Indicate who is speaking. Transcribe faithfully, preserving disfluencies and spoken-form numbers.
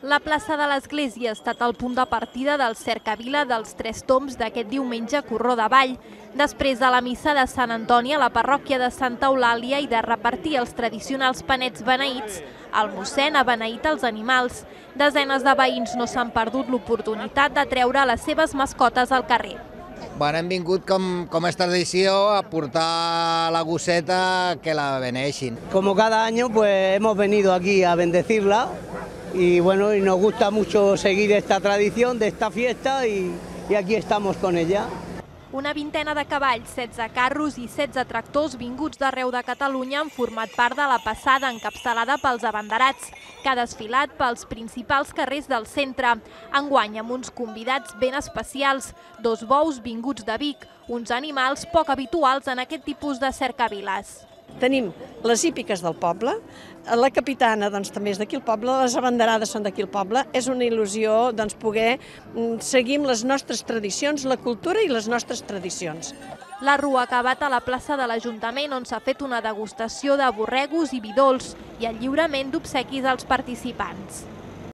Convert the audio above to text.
Speaker 1: La plaça de l'Església ha estat el punt de partida del cercavila dels Tres Tombs d'aquest diumenge Corró de Vall. Després de la missa de Sant Antoni a la parròquia de Santa Eulàlia i de repartir els tradicionals panets beneïts, el mossèn ha beneït els animals. Desenes de veïns no s'han perdut l'oportunitat de treure les seves mascotes al carrer.
Speaker 2: Bueno, hem vingut, com, com és tradició, a portar la gosseta que la beneixin.
Speaker 3: Como cada año, pues hemos venido aquí a bendecirla y bueno, y nos gusta mucho seguir esta tradición de esta fiesta y, y aquí estamos con ella.
Speaker 1: Una vintena de cavalls, setze carros i setze tractors vinguts d'arreu de Catalunya han format part de la passada encapçalada pels abanderats, que ha desfilat pels principals carrers del centre. Enguany amb uns convidats ben especials, dos bous vinguts de Vic, uns animals poc habituals en aquest tipus de cercaviles.
Speaker 4: Tenim les hípiques del poble, la capitana doncs, també és d'aquí el poble, les abanderades són d'aquí el poble. És una il·lusió doncs, poder seguir amb les nostres tradicions, la cultura i les nostres tradicions.
Speaker 1: La rua ha acabat a la plaça de l'Ajuntament, on s'ha fet una degustació de borregos i vi dolç i el lliurament d'obsequis als participants.